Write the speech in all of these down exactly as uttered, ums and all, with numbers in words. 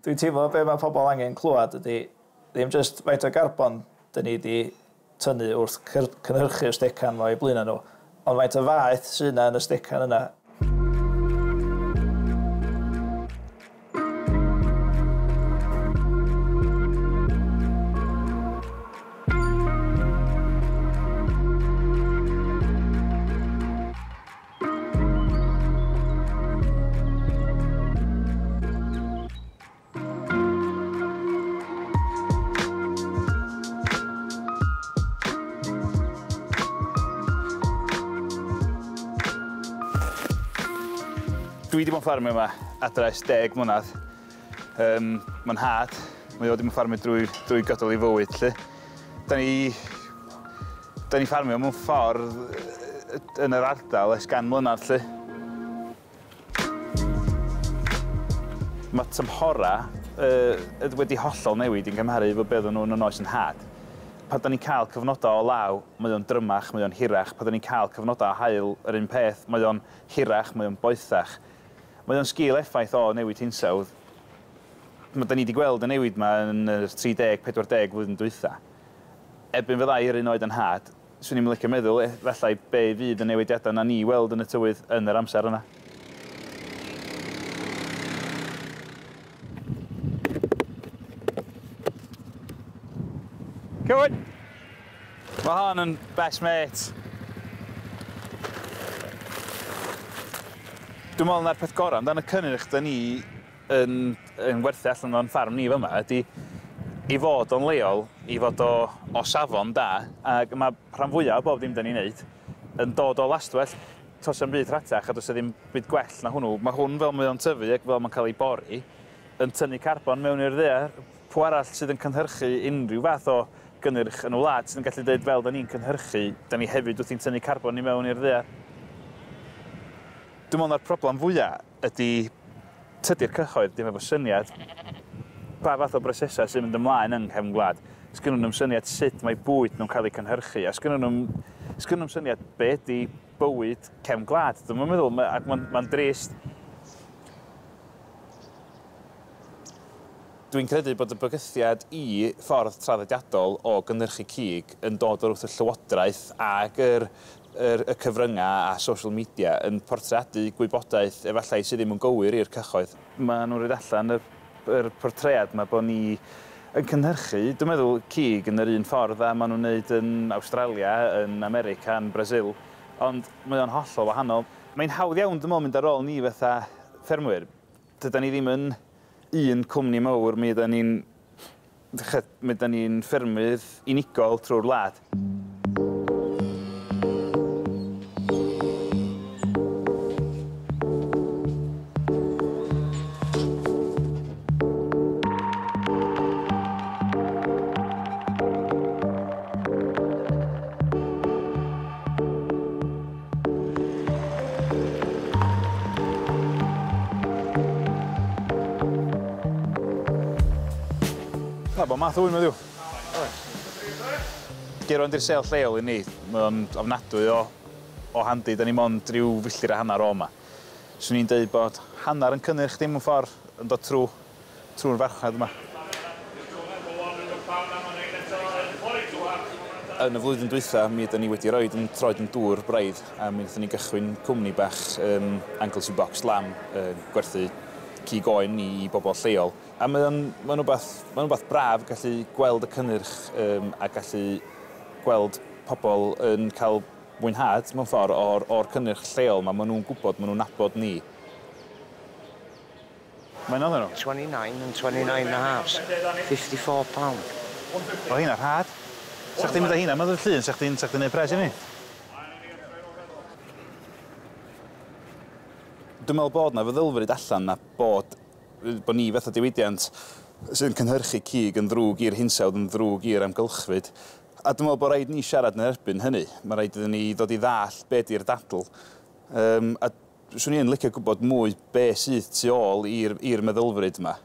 Dwi'n teimlo be mae pobl angen clywed ydy ddim jyst faint o garbon dyn ni wedi tynnu wrth cynhyrchu'r stecan 'ma o'i blaenau nhw, ond faint o faeth sydd yna yn y stecan yna. Dwi wedi bod yn ffarmio yma adra ers deg mlynedd. Um, Mae'n nhad, mae o wedi bod yn ffarmio drwy, drwy gydol ei fywyd, lly. Da ni, da ni ffarmio mewn ffordd yn yr ardal ers gan mlynedd, lly. Mae tymhora uh, wedi hollol newid yn cymharu efo beth o'n nhw'n yn oes yn nhad. Pan da ni'n cael cyfnodau o law, mae o'n drymach, mae o'n hirach. Pan da ni'n cael cyfnodau o haul, yr un peth, mae o'n hirach, mae o'n boethach. Mae o'n sgil effaith o newid hinsawdd. Mae da ni wedi gweld y newid yma yn y tri deg, pedwar deg flwyddyn dwytha. Erbyn fydda i'r un oed yn nhad, swn i'n licio meddwl efallai be fydd y newidiadau na ni weld yn y tywydd yn yr amser yna. Come on! Mae hon yn best mate. Dwi'n meddwl na'r peth gorau amdano y cynnyrch da ni yn, yn werthu allan o'n ffarm ni fyma ydy i fod o'n leol, i fod o, o safon da, ac mae rhan fwyaf o bob dim da ni'n neud yn dod o lastwell. Does 'na'm byd rhatach a does 'na ddim byd gwell na hwnnw. Mae hwn fel mae o'n tyfu ac fel mae'n cael ei bori yn tynnu carbon mewn i'r ddaear. Pwy arall sydd yn cynhyrchu unrhyw fath o gynnyrch yn y wlad sydd yn gallu dweud fel da ni'n cynhyrchu, da ni hefyd wrthi'n tynnu carbon i mewn i'r ddaear. Dwi'n meddwl na'r problem fwyaf ydy tydi'r cyhoedd ddim efo syniad pa fath o brosesau sy'n mynd ymlaen yng nghefn gwlad. Sgynnon nhw'm syniad sut mae bwyd nhw'n cael ei cynhyrchu, a sgynnon nhw'm sgynnon nhw'm syniad be ydy bywyd cefn gwlad. Dwi'n meddwl, ac mae'n ma drist. Dwi'n credu bod y bygythiad i ffordd traddodiadol o gynhyrchu cig yn dod o'r wrth y llywodraeth ac yr, yr, y cyfryngau a social media yn portreadu gwybodaeth efallai sydd ddim yn gywir i'r cyhoedd. Maen nhw'n rhaid allan yr, yr portread yma bod ni yn cynhyrchu, dwi'n meddwl, cig yn yr un ffordd a maen nhw'n wneud yn Awstralia, yn America, yn Brasil, ond mae o'n hollol wahanol. Mae'n hawdd iawn, dwi'n meddwl, mynd ar ôl ni fatha ffermwyr. Dydan ni ddim yn un cwmni mawr, mi ydan ni'n mi ydan ni'n ffermydd unigol trwy'r wlad. Na, bod math o wyn, heddiw. Gaerwan di'r sel lleol i ni. Mae o'n ofnadwy o, o handi. Da ni mond ryw filltir a hanner o yma. Swn i'n deud bod hanner yn cynnyrch dim yn ffordd yn dod trwy trwy'r farchnad yma. Yn y flwyddyn dwytha, mi ydan ni wedi roed yn troed yn dŵr braidd, a mi wnaethon ni gychwyn cwmni bach um, Anglesey Box Lamb, uh, gwerthu cig oen i, i bobl lleol. A mae o'n mae'n rhywbeth, mae'n rhywbeth braf gallu gweld y cynnyrch um, a gallu gweld pobl yn cael mwynhad mewn ffordd o'r, o'r cynnyrch lleol yma. Maen nhw'n gwybod, maen nhw'n nabod ni. Mae'n oedden nhw? twenty-nine and twenty-nine and a half, fifty-four pound. O hynna rhad. Sa chdi'n mynd â hynna, mae'n llun, sa chdi'n sa chdi'n neud pres i ni? Dwi'n meddwl bod na feddylfryd allan na bod, bod ni fatha diwydiant sy'n cynhyrchu cig yn ddrwg i'r hinsawdd, yn ddrwg i'r amgylchfyd. A dwi'n meddwl bod rhaid ni siarad yn erbyn hynny. Mae rhaid iddyn ni ddod i ddall be di'r dadl. Um, a swn i'n licio gwybod mwy be sydd tu ôl i'r i'r meddylfryd yma.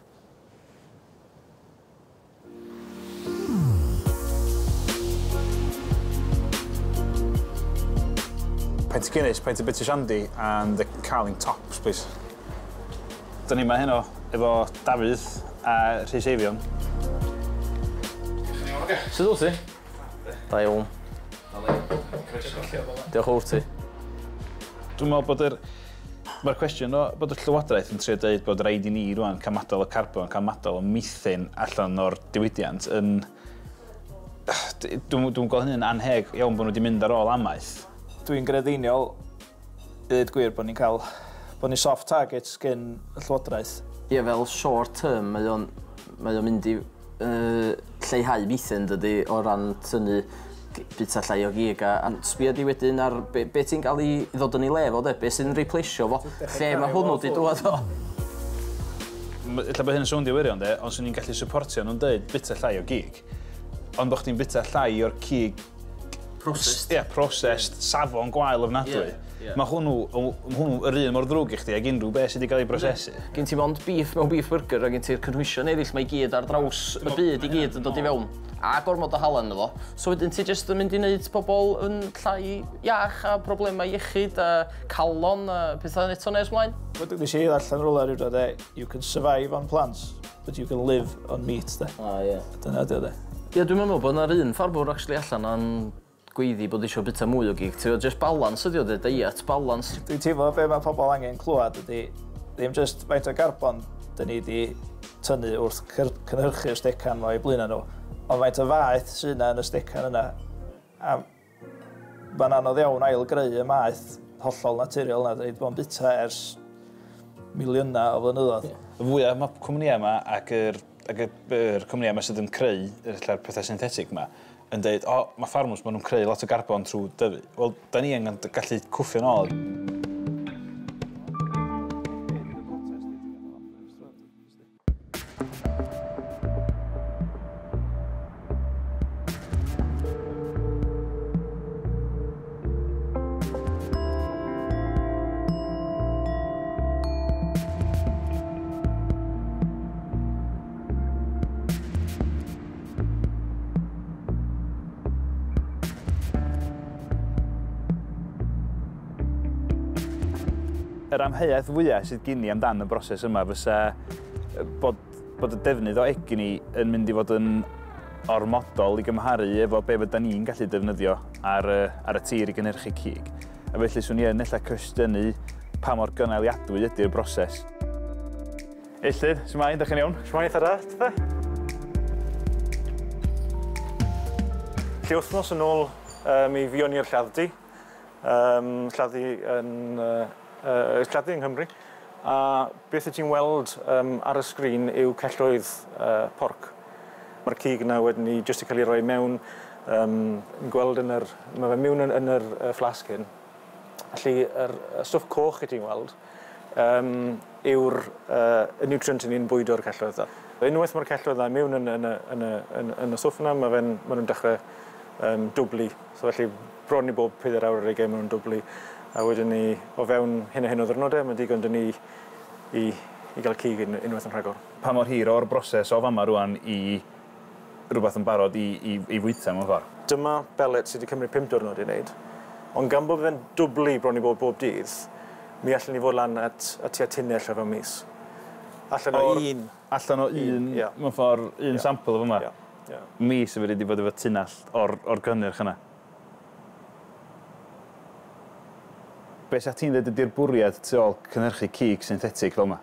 Pint of Guinness, pint of British Shandy and the Carling Tops, please. Da ni yma heno efo Dafydd a Rhys Eifion. Sut wyt ti? Da iawn. Diolch o ti. Dwi'n meddwl bod yr... Mae'r cwestiwn o bod y Llywodraeth yn trio dweud bod rhaid i ni rwan cael madal o carbon, cael madal o methane allan o'r diwydiant yn... Dwi'n dwi gweld hynny'n anheg iawn bod nhw wedi mynd ar ôl amaeth. Dwi'n grediniol, i ddweud gwir, bod ni'n cael... bod ni'n soft targets gen y Llywodraeth. Ie, fel short term, mae o'n, mae o'n mynd i uh, lleihau methane, dydy, o ran tynnu bita llai o gig a, a sbia di wedyn ar be, be ti'n cael ei ddod yn ei le fo, de, be sy'n replaceio fo, lle mae hwnnw di dŵad o. Ella bod hyn yn swndio wirion, de, ond swn i'n gallu supportio nhw'n dweud bita llai o gig, ond bod chdi'n bita llai o'r cig... Processed. Ie, yeah, processed, safon gwael ofnadwy. Yeah, yeah. Mae hwnnw, hwnnw yr un mor ddrwg i chdi ag unrhyw beth sydd wedi cael ei brosesu. Gen ti mond beef mewn beef burger a gen ti'r cynhwysion eraill mae i gyd ar draws y byd i gyd yn dod i fewn. A gormod o halen efo. So wedyn ti jyst yn mynd i wneud pobl yn llai iach a problemau iechyd a calon a pethau eto nes mlaen. Nes i ddarllen rhywle rhyw dro, de, you can survive on plants, but you can live on meat, de. Ah, ie. Yeah. Dyna ydi o, de. Ie, dwi'n meddwl bod yna'r un ffarmwr actually allan a'n gweiddi bod eisiau bita mwy o gig. Ti'n just balance ydi o, de, diet balance. Dwi'n teimlo be mae pobl angen clywed ydi ddim just faint o garbon dyn ni wedi tynnu wrth cynhyrchu'r stecan ma o'i blaenau nhw, ond faint o faeth sydd yna yn y stecan yna. A mae'n anodd iawn ail-greu y maeth hollol naturiol yna, dyn ni wedi bod yn bita ers miliynau o flynyddoedd. Yeah. Y fwyaf mae cwmnïau yma ac yr, ac yr, yr cwmnïau yma sydd yn creu yr pethau synthetig yma, yn dweud, o, mae ffarmwrs, maen nhw'n creu lot o garbon trwy dyfu. Wel, da ni angen gallu cwffio nôl. Yr amheuaeth fwyaf sydd gen i amdan y broses yma fysa bod, bod y defnydd o egni yn mynd i fod yn ormodol i gymharu efo be fydda ni'n gallu defnyddio ar, ar y tir i gynhyrchu cig. A felly swn i yn ella cwestiynu pa mor gynaliadwy ydy'r broses. Illtyd, shwmae, dach chi'n iawn? Shwmae, eitha da, tithe? Lle wythnos yn ôl, um, mi fuon ni'r lladd-dy. Um, lladd-dy yn... Uh, Uh, lladdu yng Nghymru, a beth y ti'n weld um, ar y sgrin yw celloedd uh, porc. Mae'r cig yna wedyn ni jyst i cael ei roi mewn, um, gweld yn yr, mae fe mewn yn, yn yr uh, flasg hyn. Felly, yr, y stwff coch y ti'n weld um, yw'r uh, y nutrient ni'n bwydo'r celloedd yna. Unwaith mae'r celloedd yna mewn yn, yn, yn, yn, yn, yn y stwff yna, mae fe'n, maen nhw'n dechrau um, dwblu. So felly, bron i bob pedair awr ar ugain maen nhw'n dwblu. A wedyn ni, o fewn hyn a hyn o ddwrnodau, mae'n digon dyn ni i, i gael cig un, unwaith yn rhagor. Pa mor hir o'r broses o fama rwan i rhywbeth yn barod i, i, i fwyta mewn ffordd? Dyma belet sydd wedi cymryd pump diwrnod i wneud, ond gan bod fe'n dwblu bron i bod bob dydd, mi allan ni fod lan at, at tua tunnell o fewn mis. Allan o Or, un. Allan o un, yeah. mewn ffordd, un yeah. sampl o fama. Yeah. Yeah. Mis y wedi bod efo tunnell o'r, or gynnyrch yna. Be sa ti'n dweud ydy'r bwriad tu ôl cynhyrchu cig synthetig fel yma?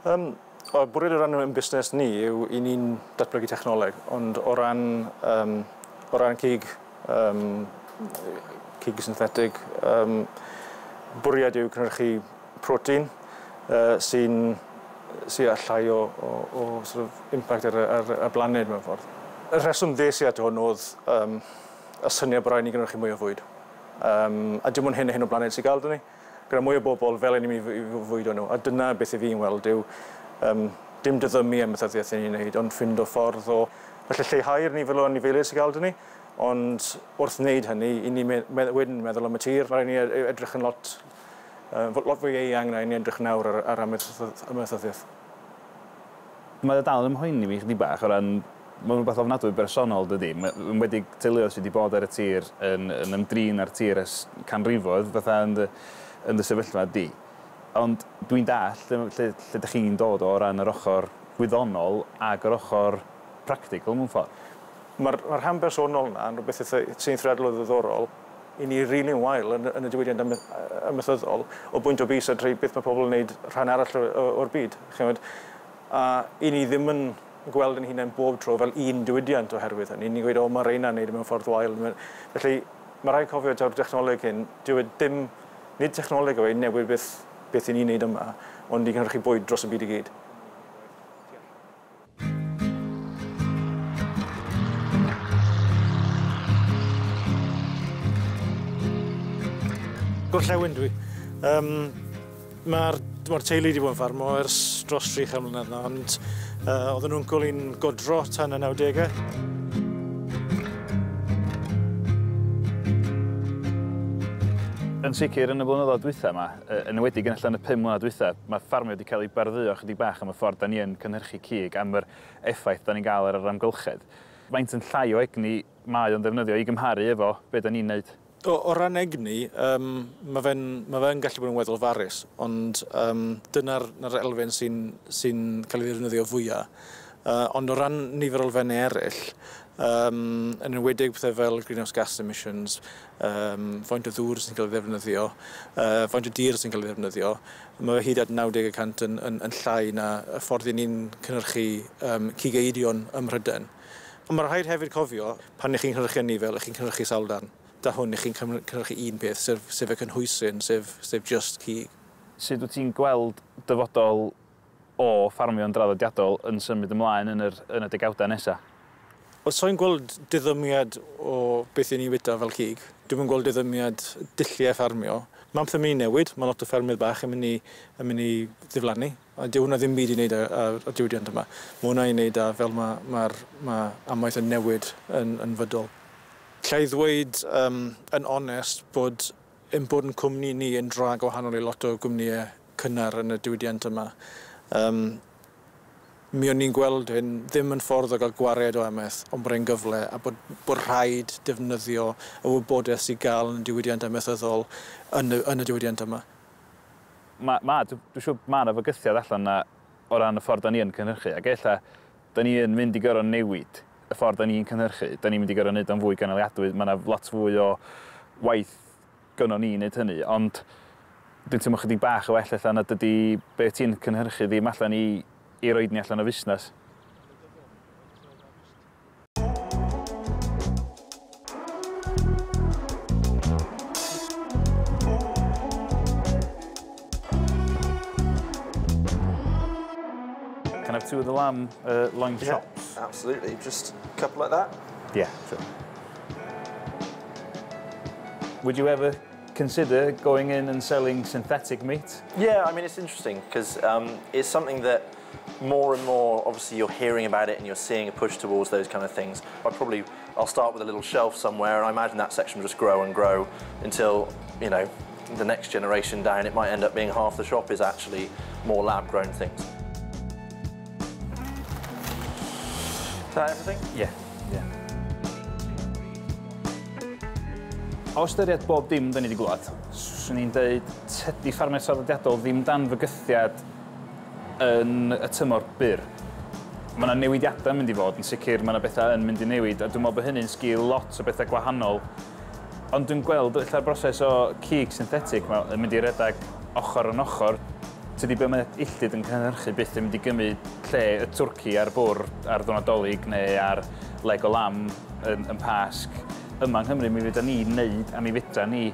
Um, o, bwriad o ran yn busnes ni yw i ni'n datblygu technoleg, ond o ran, um, o ran cig, um, cig synthetig, um, bwriad yw cynhyrchu protein uh, sy'n sy â llai o, o, o sort of impact ar, ar, ar blaned mewn ffordd. Y rheswm ddes i at hwn oedd um, y syniad bod rhaid ni gynhyrchu mwy o fwyd. Um, a dim ond hyn a hyn o blaned sy'n gael dyn ni. Gyda mwy o bobl fel ni'n mynd i fwydo nhw. A dyna beth i fi'n weld yw um, dim diddymu amaethyddiaeth ni'n wneud, ond ffindo ffordd o felly lleihau'r nifer o anifeiliaid sy'n gael dyn ni. Ond wrth wneud hynny, i ni me wedyn meddwl am y tir. Mae rhaid ni edrych yn lot, uh, lot fwy eang na i ni edrych nawr ar, ar amaethyddiaeth. Mae o dal yn mhoeni fi chydig bach o ran mae'n rhywbeth ofnadwy bersonol, dydy. Yn wedi teuluoedd sydd wedi bod ar y tir yn, yn ymdrin ar tir ers canrifoedd, fatha yn dy, yn dy sefyllfa di. Ond dwi'n dall lle, lle, lle ydych chi'n dod o ran yr ochr gwyddonol ag yr ochr practical mewn ffordd. Mae'r ma rhan bersonol yna yn rhywbeth sy'n eithriadol o ddiddorol i ni rili'n really wael yn, yn y diwydiant amaethyddol o bwynt o bys a trwy beth mae pobl yn gwneud rhan arall o'r byd. Chymod? A i ni ddim yn gweld yn hunain bob tro fel un diwydiant oherwydd hynny. Ni'n gweud, o, mae reina'n neud mewn ffordd wael. Felly, mae rhaid cofio taw'r technoleg hyn, dyw e dim, nid technoleg yw e newid beth, beth i ni'n neud yma, ond i gynhyrchu bwyd dros y byd i gyd. Gorllewin dwi. Um, Mae'r ma teulu wedi bod yn ffarmo ers dros tri chan mlynedd na, ond uh, oedd yn wncwl i'n godro tan y nawdegau. Yn sicr, yn y blynyddoedd dwytha yma, yn enwedig yn allan y pum mlynedd dwytha, mae ffarmio wedi cael ei bardduo chydig bach am y ffordd da ni yn cynhyrchu cig, am yr effaith da ni'n gael ar yr amgylchedd. Faint yn llai o egni mae o'n ddefnyddio i gymharu efo be da ni'n neud? O, o ran egni, um, mae fe'n ma fe gallu bod yn weddol farus, ond um, dyna'r elfen sy'n sy cael ei ddefnyddio fwyaf. Uh, ond o ran nifer o elfennau eraill, um, yn enwedig pethau fel greenhouse gas emissions, um, faint o ddŵr sy'n cael ei ddefnyddio, uh, faint o dir sy'n cael ei ddefnyddio, mae fe hyd at naw deg y cant yn, yn, yn llai na y ffordd i ni'n cynhyrchu um, cig eidion ym Mhrydain. Ond mae rhaid hefyd cofio, pan ych chi'n cynhyrchu anifail, ych chi'n cynhyrchu sawl darn. Da hwn, ych chi'n cynhyrchu un peth, sef, sef y cynhwysyn, sef, sef just cig. Sut wyt ti'n gweld dyfodol o ffarmio'n draddodiadol yn symud ymlaen yn, yr, yn y degawdau nesaf? Wel, so'n gweld diddymiad o beth i ni fwyta fel cig. Dwi'm yn gweld diddymiad dulliau ffarmio. Mae pethau'n mynd i newid, mae lot o ffermydd bach yn mynd i, yn mynd i ddiflannu. A dyw hwnna ddim byd i wneud â'r diwydiant yma. Mae hwnna i wneud â fel mae, ma, ma amaeth yn newid yn, yn fydol. Alla i ddweud um, yn onest bod ein bod yn cwmni ni yn dra gwahanol i lot o gwmnïau cynnar yn y diwydiant yma. Um, mi o'n ni'n gweld hyn ddim yn ffordd o gael gwared o amaeth, ond bod e'n gyfle a bod, bod rhaid defnyddio y wybodaeth sy'n gael yn y diwydiant amaethyddol yn y, yn y diwydiant yma. Ma, ma, dwi'n siŵr ma' 'na fygythiad allan na o ran y ffordd da ni yn cynhyrchu, ac ella da ni yn mynd i gorfod newid y ffordd da ni'n cynhyrchu, da ni'n mynd i gorfod wneud o'n fwy gynaliadwy, mae yna lot fwy o waith gynnon ni wneud hynny, ond dwi'n teimlo chydig bach o well allan na dydy be ti'n cynhyrchu ddim allan i, i roed ni allan o fusnes. Can I have two of the lamb uh, loin yeah, chops? Absolutely, just a couple like that? Yeah, sure. Would you ever consider going in and selling synthetic meat? Yeah, I mean, it's interesting because um, it's something that more and more, obviously, you're hearing about it and you're seeing a push towards those kind of things. I probably, I'll start with a little shelf somewhere, and I imagine that section will just grow and grow until, you know, the next generation down, it might end up being half the shop is actually more lab-grown things. Is that everything? Yeah, yeah. O ystyried bob dim da ni wedi glwad, swn i'n dweud tydi ffarmio traddodiadol ddim dan fygythiad yn y tymor byr. Mae yna newidiadau yn mynd i fod, yn sicr mae yna bethau yn mynd i newid, a dwi'n meddwl bod hynny'n sgil lot o bethau gwahanol. Ond dwi'n gweld ella'r broses o cig synthetig yn mynd i redeg ochr yn ochr. Tydi be mae illtyd yn cynhyrchu byth yn mynd i gymryd lle y twrci ar bwrdd ar ddwrnod Dolig neu ar leg o lam yn, yn Pasg. Yma yng Nghymru, mi fedra ni wneud a mi fedra ni,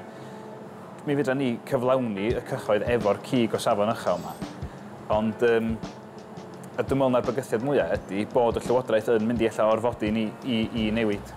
mi fedra ni cyflawni y cyhoedd efo'r cig o safon uchel yma. Ond um, a dwi'n meddwl na'r bygythiad mwyaf ydy bod y Llywodraeth yn mynd i ella orfodi ni i, i newid.